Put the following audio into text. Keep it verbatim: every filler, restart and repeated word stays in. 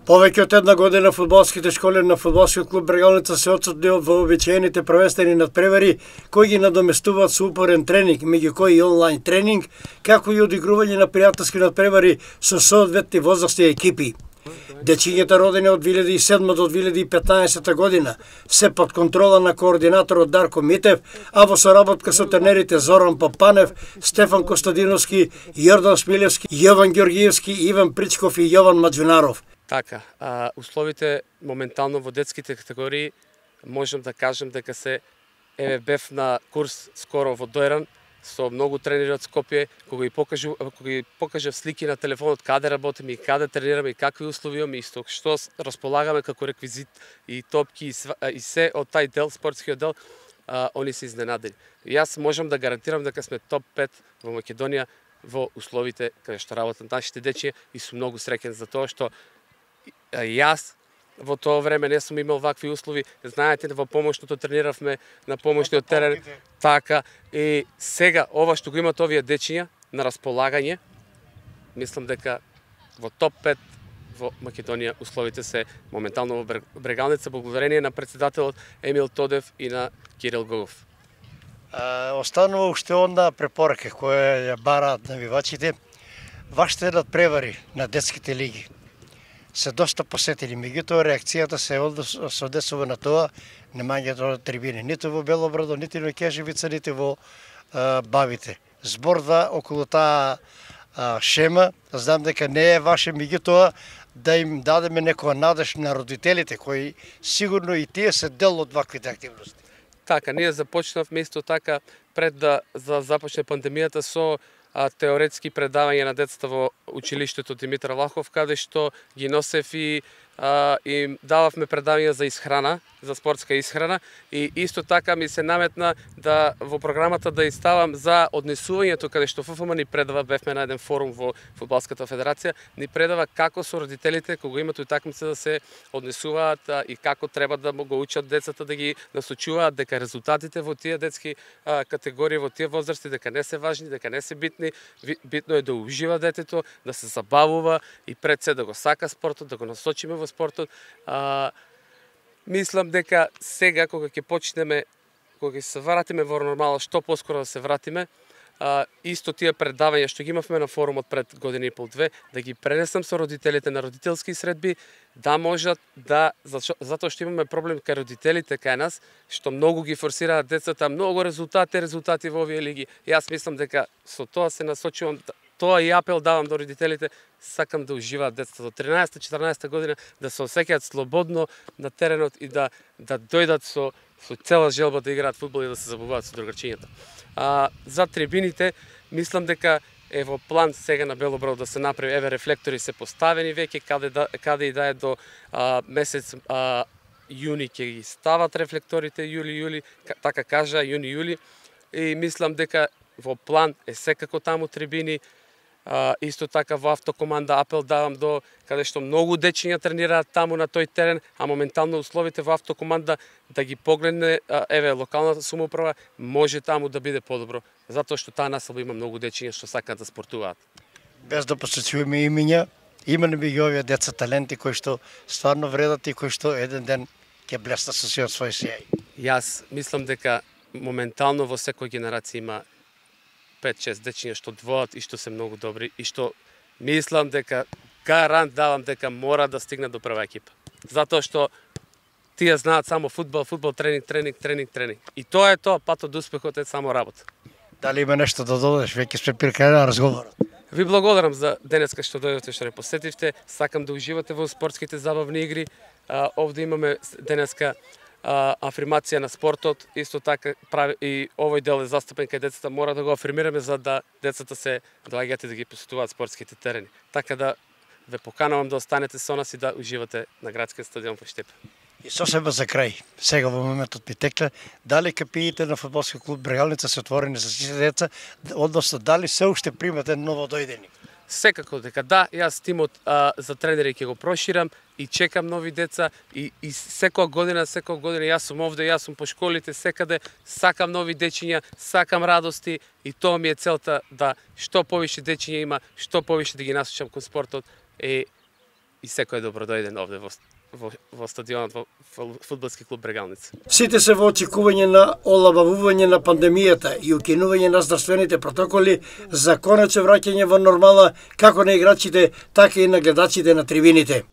Повеќе од една година фудбалските школи на фудбалскиот клуб Брегалница се отсутни од вообичаените првенствени надпревари кои ги надоместуваат со упорен тренинг, меѓу кои и онлайн тренинг, како и одигрување на пријателски надпревари со соодветни возрастни екипи. Дечињата родени од две илјади и седма до две илјади и петнаесета година се под контрола на координаторот Дарко Митев, а во соработка со тренерите Зоран Папанев, Стефан Костадиновски, Јордан Смилевски, Јован Ѓоргиевски, Иван Причков и Јован Маđунаров. Така, а, условите моментално во детските категории можам да кажем дека се еве бев на курс скоро во Дојран со многу тренери од Скопје, кога ги покажу, кога ги покажав слики на телефонот каде работиме и каде тренираме и какви услови имаме и што располагаме како реквизит и топки и, св... и се од тај дел, спортскиот дел, а, они се изненадени. И јас можам да гарантирам дека сме топ пет во Македонија во условите каде што работат нашите дечиња и сум многу среќен за тоа што јас во тоа време не сум имал вакви услови. Знаете, во помошното трениравме на помошниот терен. Така, и сега ова што го имат овие дечиња на располагање, мислам дека во топ пет во Македонија условите се моментално во Брегалница, благодарение на председателот Емил Тодев и на Кирил Гогов. Останува уште онда препорака која ја бараат навивачите. Вашите надпревари на детските лиги се доста посетени, меѓутоа реакцијата се одесува на тоа немањето на трибини, ниту во Белобрадо, ниту во Кежевица, ниту во а, Бавите. Зборда околу таа а, шема, знам дека не е ваше, меѓутоа да им дадеме некоја надеж на родителите, кои сигурно и тие се дел од ваквите активности. Така, ние започнавме исто така пред да за започне пандемијата со а, теоретски предавања на децата во училиштето Димитар Влахов, каде што ги носев и а, им дававме предавања за исхрана, за спортска исхрана, и исто така ми се наметна да во програмата да иставам за однесувањето, каде што ФФМ ни предава, бевме на еден форум во Фудбалската федерација, ни предава како со родителите кога имат утакмица да се однесуваат а, и како треба да го учат децата, да ги насочуваат дека резултатите во тие детски а, категории, во тие возрасти, дека не се важни, дека не се битни. Битно е да ужива детето, да се забавува и пред се да го сака спортот, да го насочиме во спортот. А, мислам дека сега кога ќе почнеме, кога ќе се вратиме во нормала, што поскоро да се вратиме, а, исто тие предавања што ги имавме на форумот пред година и пол две, да ги пренесам со родителите на родителски средби, да можат да, затоа што имаме проблем кај родителите кај нас, што многу ги форсираат децата, многу резултати, резултати во овие лиги. Јас мислам дека со тоа се насочувам, тоа и апел давам до родителите, сакам да уживаат децата до тринаесета-четирнаесета година, да се осеќаат слободно на теренот и да да дојдат со со цела желба да играат фудбал и да се забавуваат со другарчињата. А за трибините мислам дека е во план сега на Белобрадо да се направи, еве рефлектори се поставени веќе каде да, каде и да е до а, месец а, јуни ќе ги стават рефлекторите, јули јули, така кажа, јуни јули, и мислам дека во план е секако таму трибини. А, исто така во автокоманда апел давам до каде што многу дечиња тренираат таму на тој терен, а моментално условите во автокоманда да ги погледне а, еве локалната самоуправа, може таму да биде подобро, затоа што таа населба има многу дечиња што сакаат да спортуваат. Без да посочуваме имиња, има меѓу овие деца таленти кои што стварно вредат и кои што еден ден ќе блеснат со сиот свој сјај. Јас мислам дека моментално во секоја генерација има пет-шест дечиња што двоат и што се многу добри и што мислам дека гарант давам дека мора да стигнат до прва екипа. Затоа што тие знаат само фудбал, фудбал, тренинг, тренинг, тренинг, тренинг. И тоа е тоа, патот до успехот е само работа. Дали има нешто да додадеш, веќе сме при крај на разговорот? Ви благодарам за денеска што дојдовте, што не посетивте. Сакам да уживате во спортските забавни игри. А, овде имаме денеска афирмација на спортот, исто така прави и овој дел е застапен кај децата, мора да го афирмираме за да децата се доаѓаат и да ги посетуваат спортските терени. Така да ве поканувам да останете со нас и да уживате на градскиот стадион во Штип. И сосема за крај, сега во моментот ми текла, дали капиите на фудбалски клуб Брегалница се отворени за сите деца, односно дали се уште примате ново дојдени? Секако дека да, јас тимот а, за тренери ќе го проширам и чекам нови деца и, и секоја година, секоја година јас сум овде, јас сум по школите, секаде, сакам нови дечиња, сакам радости и тоа ми е целта да што повише дечиња има, што повише да ги насочам кон спортот, и и секој е добродојден овде во во, во стадионот во фудбалски клуб Брегалница. Сите се во очекување на олабавување на пандемијата и укинување на здравствените протоколи за конечно враќање во нормала како на играчите, така и на гледачите на трибините.